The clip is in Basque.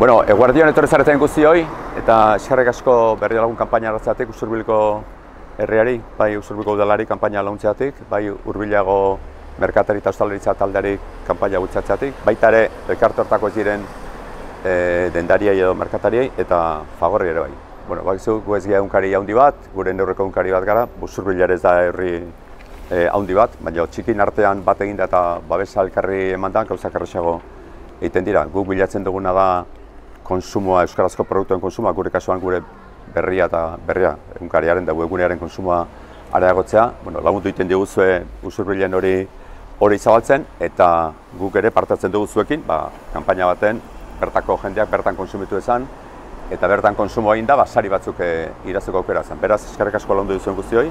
Eguerdion etorri zareten guztioi, eta eskerrik asko berri lagun kanpaina hartzeatik Usurbilko herriari, bai Usurbilko udalari kanpaina launtzeatik, bai Hurbilago merkatari eta ostalaritza taldeari kanpaina bultzatzeatik, baita ere elkarte hortako ez diren dendariei edo merkatariei eta Fagorri ere bai. Bakizu gu ez gira egunkari handi bat, gure neurreko egunkari bat gara, Usurbil ere ez da herri handi bat, baina txikin artean bat eginda eta babesa elkarri emandan gauzak errazago egiten dira. Guk bilatzen duguna da konsumoa, euskarazko produktuen konsumoa, gure kasuan gure berria egunkariaren da webgunearen konsumoa areagotzea. Lagundu egiten diguzue Usurbilen hori zabaltzen, eta guk ere partatzen dugu zuekin, kanpaina baten bertako jendeak bertan konsumitu ezan, eta bertan konsumo egin da, sari batzuk irazteko aukera zen. Beraz, eskerrik asko lagundu duzuen guztioi.